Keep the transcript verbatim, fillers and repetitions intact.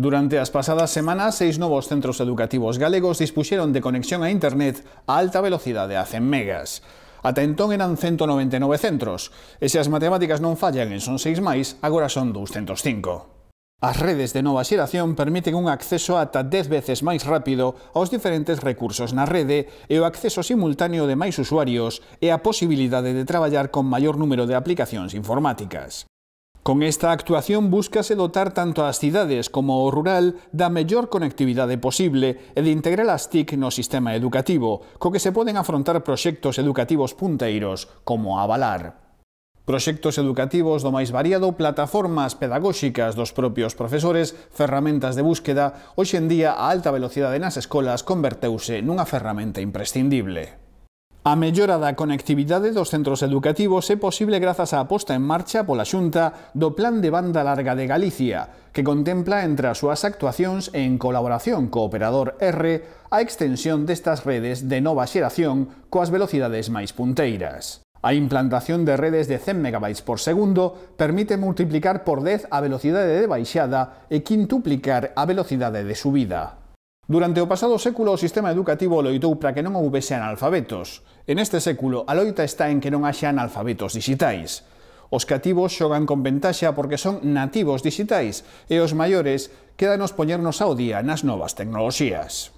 Durante as pasadas semanas, seis novos centros educativos galegos dispuxeron de conexión a internet a alta velocidade a cen megas. Ata entón eran ciento noventa e nove centros, e se as matemáticas non fallan e son seis máis, agora son douscentos cinco. As redes de nova xeración permiten un acceso ata dez veces máis rápido aos diferentes recursos na rede e o acceso simultáneo de máis usuarios e a posibilidade de traballar con maior número de aplicacións informáticas. Con esta actuación búscase dotar tanto as cidades como o rural da mellor conectividade posible e de integrar as T I C no sistema educativo, co que se poden afrontar proxectos educativos punteiros como a Avalar. Proxectos educativos do máis variado, plataformas pedagóxicas dos propios profesores, ferramentas de búsqueda, hoxe en día a alta velocidade nas escolas converteuse nunha ferramenta imprescindible. A mellora da conectividade dos centros educativos é posible grazas á posta en marcha pola Xunta do Plan de Banda Larga de Galicia, que contempla entre as súas actuacións e en colaboración co operador R a extensión destas redes de nova xeración coas velocidades máis punteiras. A implantación de redes de cen megabytes por segundo permite multiplicar por dez a velocidade de baixada e quintuplicar a velocidade de subida. Durante o pasado século o sistema educativo loitou para que non houbese analfabetos. En este século a loita está en que non haxa analfabetos digitais. Os cativos xogan con ventaxa porque son nativos digitais e os maiores quédanos poñernos ao día nas novas tecnoloxías.